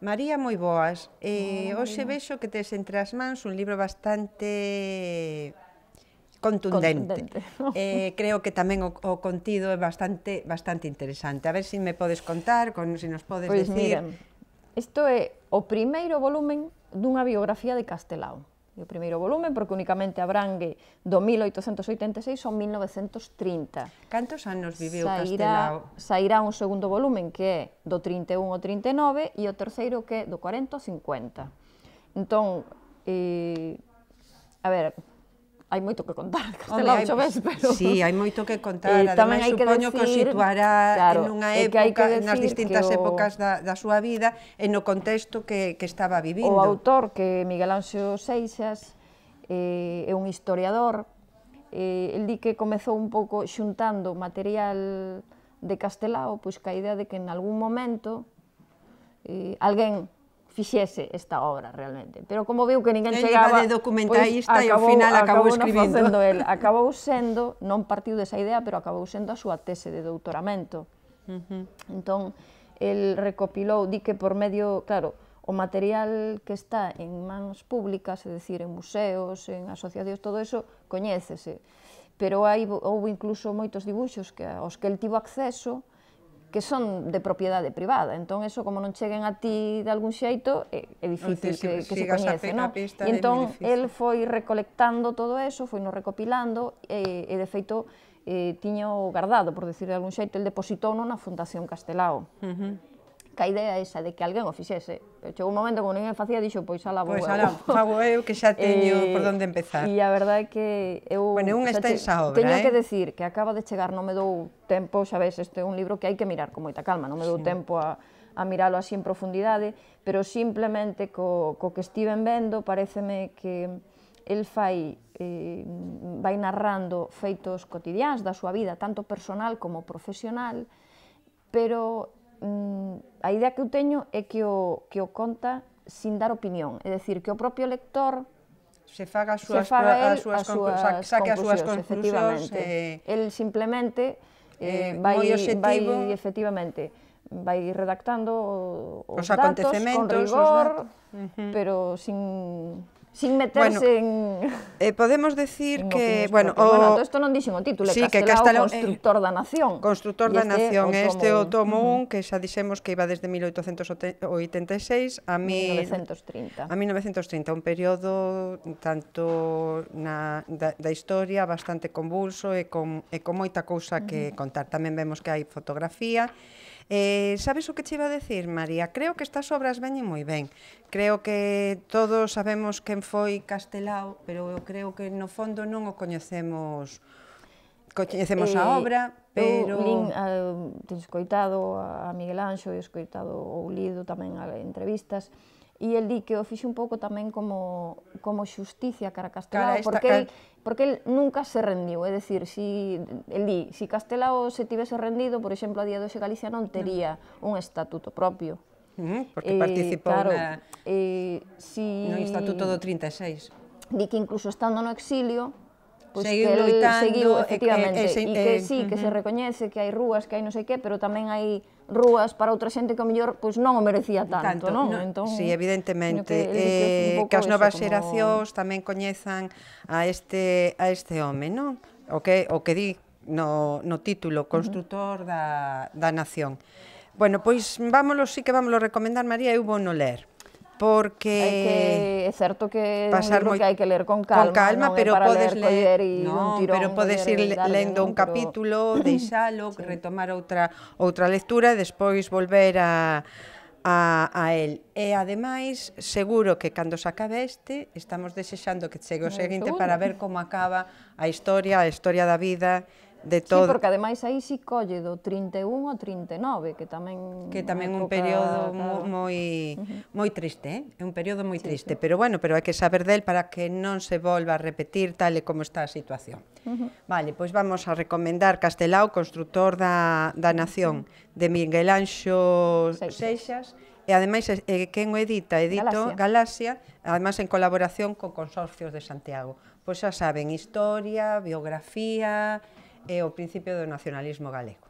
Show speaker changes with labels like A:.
A: María, moi boas.
B: Hola,
A: Hoxe
B: Marina.
A: vexo que tes entre as mans un libro bastante contundente.
B: Contundente.
A: Creo que tamén o contido é bastante interesante. A ver se me podes contar, se nos podes
B: Pois
A: decir...
B: miren, isto é o primeiro volumen dunha biografía de Castelao. E o primeiro volumen, porque únicamente abrangue do 1886 ao 1930.
A: Cantos anos viviu Castelao?
B: Sairá un segundo volumen que é do 31 ao 39 e o terceiro que é do 40 ao 50. Entón, a ver, hai moito que contar de Castelao, xa ves, pero...
A: Sí, hai moito que contar, ademais supoño que o situará nunha época, nas distintas épocas da súa vida e no contexto que estaba vivindo.
B: O autor, que é Miguel Anxo Seixas, é un historiador, el di que comezou un pouco xuntando material de Castelao, pois ca idea de que en algún momento alguén fixese esta obra realmente, pero como viu que ninguén chegaba,
A: de documentalista e ao final acabou escribindo.
B: Acabou sendo, non partiu desa idea, pero acabou sendo a súa tese de doutoramento. Entón, el recopilou, di que por medio, claro, o material que está en mans públicas, é dicir, en museos, en asociacións, todo eso, coñécese, pero houve incluso moitos dibuixos aos que el tivo acceso, que son de propiedade privada, entón, eso, como non cheguen a ti de algún xeito, é difícil que se coñece, non? E entón, el foi recolectando todo eso, foi no recopilando, e de feito, tiño guardado, por decir de algún xeito, el depositouno na Fundación Castelao. Que a idea é esa, de que alguén o fixese. Chegou un momento, como ninguén facía, dixo, pois alá vou eu.
A: Pois alá, fago eu, que xa teño por onde empezar.
B: E a verdade é que eu...
A: Bueno, é unha extensa obra,
B: teño que decir que acaba de chegar, non me dou tempo, xa ves, este é un libro que hai que mirar con moita calma, non me dou tempo a miralo así en profundidade, pero simplemente co que estiven vendo, pareceme que el vai narrando feitos cotidiáns da súa vida, tanto personal como profesional, pero a idea que eu teño é que o conta sin dar opinión, é dicir, que o propio lector
A: saque as súas conclusións.
B: El simplemente vai redactando os datos con rigor, pero sin meterse en...
A: Podemos decir que...
B: Bueno, isto non dixen o título, Castelao, constructor da nación.
A: Constructor da nación, este é o tomo 1, que xa dixemos que iba desde 1886 a 1930, un período tanto da historia bastante convulso e con moita cousa que contar. Tamén vemos que hai fotografía. Sabes o que che iba a decir, María? Creo que estas obras veñen moi ben. Creo que todos sabemos quen foi Castelao, pero eu creo que no fondo non o coñecemos a obra, pero...
B: Eu teño escoitado a Miguel Anxo e escoitado ou lido tamén entrevistas, e el di que o fixe un pouco tamén como xusticia cara a Castelao, porque el nunca se rendiu, é dicir, el di, si Castelao se tivese rendido, por exemplo, a día de hoxe Galicia non tería un estatuto propio.
A: Porque participou no Estatuto do 36.
B: Di que incluso estando no exilio,
A: seguiu loitando,
B: efectivamente, e que sí, que se recoñece que hai rúas, que hai non sei que, pero tamén hai rúas para outra xente que ao mellor non o merecía tanto, non?
A: Sí, evidentemente, que as novas xeracións tamén coñezan a este home, non? O que di no título, Constructor da nación. Bueno, pois sí que vámoslo recomendar, María, eu vou no ler. Porque
B: é certo que é un libro que hai que ler con calma,
A: pero podes ler
B: dun tirón,
A: pero podes ir lendo un capítulo, deixalo, retomar outra lectura e despois volver a el. E ademais, seguro que cando se acabe estamos desexando que chegue o seguinte para ver como acaba a historia da vida de todo.
B: Sí, porque ademais aí si colle do 31 ao 39, que tamén
A: un período moi triste, é un período moi triste, pero bueno, hai que saber del para que non se volva a repetir tal e como está a situación. Vale, pois vamos a recomendar Castelao, Constructor da nación, de Miguel Anxo Seixas, e ademais quen o edita, Galaxia, ademais en colaboración co Consorcios de Santiago. Pois xa saben, historia, biografía e o principio do nacionalismo galego.